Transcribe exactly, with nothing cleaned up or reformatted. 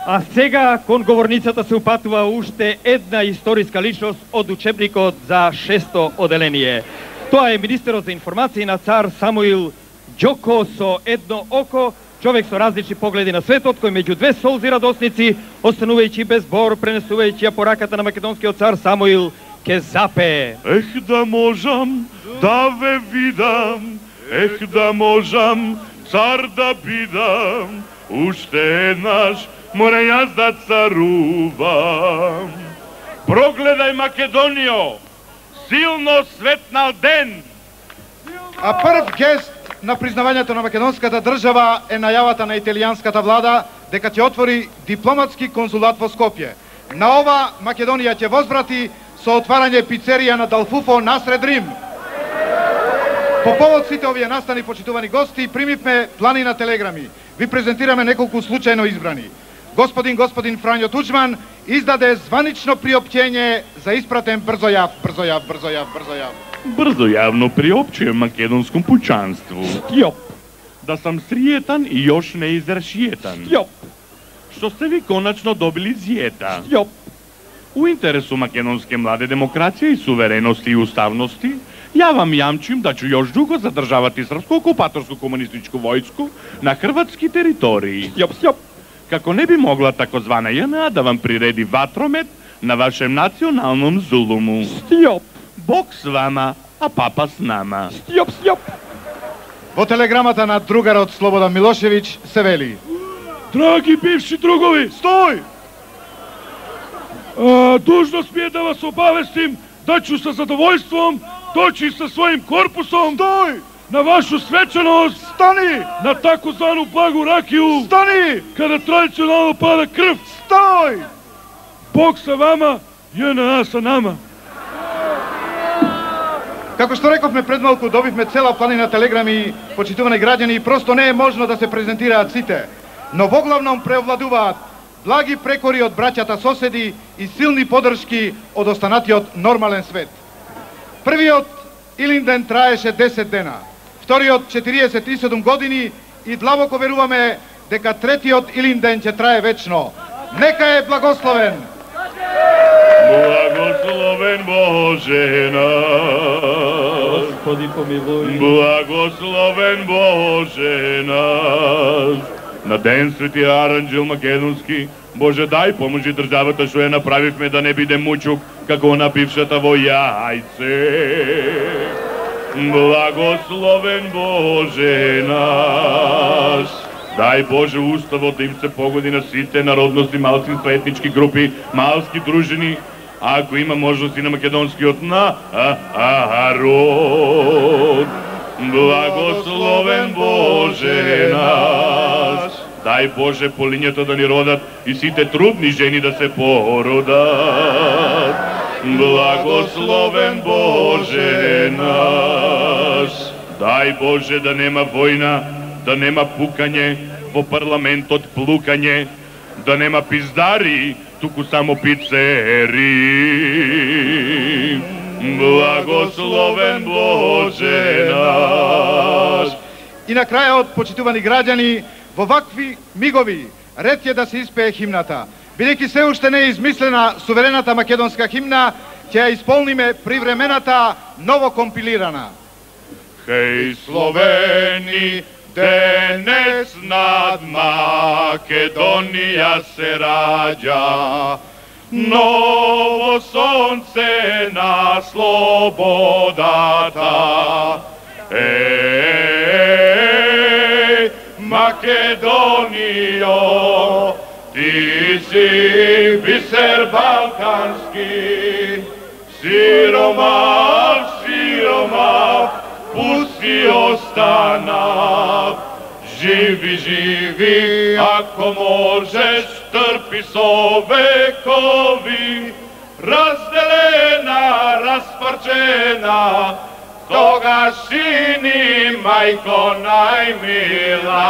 А сега кон говорницата се упатува уште една историска личност од учебникот за шесто оделение. Тоа е министерот за информации на цар Самуил Ѓоко со едно око, човек со различни погледи на светот, кој меѓу две солзи радосници, останувајќи без збор, пренесувајќи ја пораката на македонскиот цар Самуил, ке запее. Ех да можам да ве видам, ех да можам цар да бидам, уште еднаш мора јас да царувам. Прогледај Македонијо, силно светнал ден. А прв гест на признавањето на македонската држава е најавата на италијанската влада дека ќе отвори дипломатски конзулат во Скопје. На ова Македонија ќе возврати со отварање пицерија на Далфуфо насред Рим. По повод сите овие настани, почитувани гости, примивме планина телеграми. Ви презентираме неколку случајно избрани. Господин господин Фрањо Туџман издаде званично приопќење за испратен брзојав, брзојав, брзојав, брзојав. Брзо јавно приопчуjem македонском пучанству. Стјоп. Да сам сријетан и још не израшијетан. Стјоп. Што сте ви конечно добили зијета. Стјоп. У интересу македонске младе демокрација и суверености и уставности, ја вам јамчим да ќе још дуго задржавате српско окупаторско комунистичко војско на хрватски територии. Стјоп, стјоп. Како не би могла такозвана ЈНА да вам приреди ватромет на вашем националном зулуму. Стјоп. Бог с вама, а папа с нама. Стјоп, стјоп. Во телеграмата на другарот Слободан Милошевиќ се вели: Драги бивши другови, Стој! а, дужност ми е да вас обавестим да ќе со задоволством дојчи со својим корпусом Стој! на вашу свечаност, Стани! на тако звану благу ракiju, Стани! каде традиционално пада крв. Стој! Бог sa вама, ЈНА sa nama. Како што рековме пред малку, добивме цела планина телеграми, почитувани граѓани, и просто не е можно да се презентираат сите. Но во главном преовладуваат благи прекори од браќата соседи и силни подршки од останатиот нормален свет. Првиот Илинден траеше десет дена, вториот четириесет и седум години и длабоко веруваме дека третиот Илинден ќе трае вечно. Нека е благословен! Благословен Боже наш, Господи помилуј. благословен Боже наш. На ден Свети Аранџел Македонски, Боже дај поможи државата што ја направивме да не биде мучук како на бившата во Јајце. Благословен Боже наш. Дај Боже уставот да им се погоди на сите народности, малцинства, етнички групи, малски дружини, ако има можности на македонскиот народ. Благословен Боже наш. Дај Боже по лињата да ни родат и сите трудни жени да се породат. Благословен Боже наш. Дај Боже да нема војна, да нема пукање, во парламентот плукање, да нема пиздари, туку само пицери. Благословен Боже наш. И на крајот, почитувани граѓани, во вакви мигови ред е да се испее химната. Бидејќи се уште не е измислена суверената македонска химна, ќе ја исполниме привремената новокомпилирана. Хеј Словени, денес над Македонија се раѓа, ново сонце на слободата. Еј, Македонијо, ти си бисер балкански, сиромах, сиромах, пусти останав. Живи, живи, ако можеш, трпи со векови, разделена, распарчена, тогаш и ни, мајко најмила.